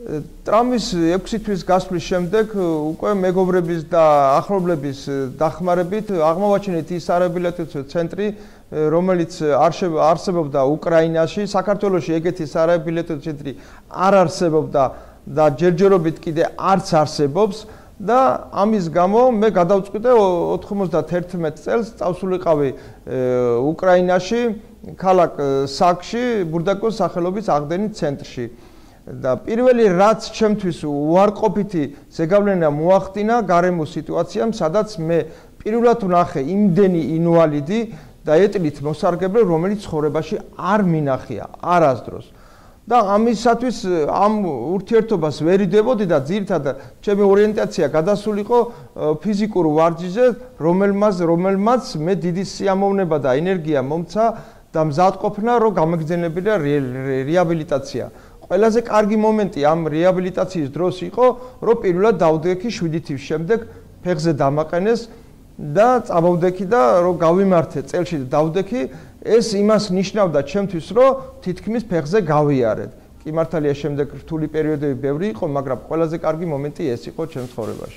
ტრამვის 6 თვის გასვლის შემდეგ უკვე მეგობრების და ახლობლების დახმარებით აღმოვაჩინეთ ის სარეაბილიტაციო ცენტრი, რომელიც არსებობდა უკრაინაში, საქართველოში ეგეთი სარეაბილიტაციო ცენტრი არ არსებობდა და ჯერჯერობით კიდე არც არსებობს და ამის გამო მე გადავწყვიტე 91 წელს წავსულიყავი უკრაინაში, ქალაქ საკში, ბურდაკოს სახელობის აღდგენის ცენტრში. და პირველი რაც ჩემთვის უარყოფითი ზეგავლენა მოახდინა გარემო სიტუაციამ, სადაც მე პირველად ვნახე იმდენი ინვალიდი და ეტლით მოსარგებლე, რომელიც ცხოვრებაში არ მინახია არასდროს. და ამისათვის ამ ურთიერთობას ვერ იდებოდი და ძირითადად ჩემი ორიენტაცია გადასულიყო ფიზიკურ ვარჯიშზე, რომელმაც მე დიდი სიამოვნება და ენერგია მომცა და მზადყოფნა, რომ გამეგრძელებინა რეაბილიტაცია. ყველაზე კარგი მომენტი ამ რეაბილიტაციის დროს იყო, რომ პირველად დავდექი 7 თვის შემდეგ ფეხზე დამაყენეს და წავავდექი და რომ გავიმართე წელში დავდექი, ეს იმას ნიშნავდა ჩემთვის, რომ თითქმის ფეხზე გავიარეთ. კი მართალია შემდეგ რთული პერიოდები ბევრი იყო, მაგრამ ყველაზე კარგი მომენტი ეს იყო ჩემს ცხოვრებაში.